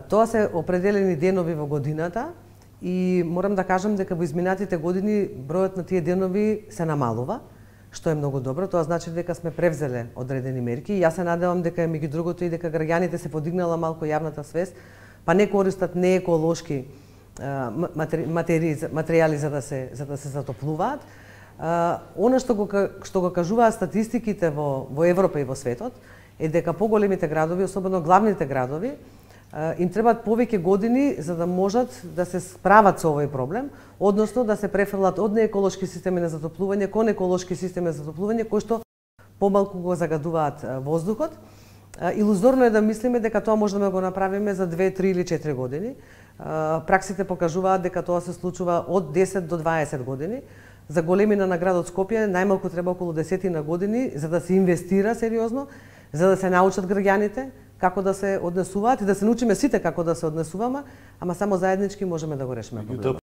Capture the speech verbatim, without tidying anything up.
Тоа се определени денови во годината и морам да кажам дека во изминатите години бројот на тие денови се намалува, што е многу добро. Тоа значи дека сме превзеле одредени мерки и јас се надевам дека меѓу другото и дека граѓаните се подигнала малку јавната свест, па не користат нееколошки материјали за да се за да се затоплуваат. Она што го што го кажуваат статистиките во во Европа и во светот е дека поголемите градови, особено главните градови, им требаат повеќе години за да можат да се справат со овој проблем, односно да се префрлат од нееколошки системи на затоплување кон еколошки системи за затоплување кои што помалку го загадуваат воздухот. Илузорно е да мислиме дека тоа може да го направиме за две, три или четири години. Праксите покажуваат дека тоа се случува од десет до дваесет години. За големина на градот Скопје најмалку треба околу десетина години за да се инвестира сериозно, за да се научат граѓаните како да се однесуваат и да се научиме сите како да се однесуваме, ама само заеднички можеме да го решиме проблемот.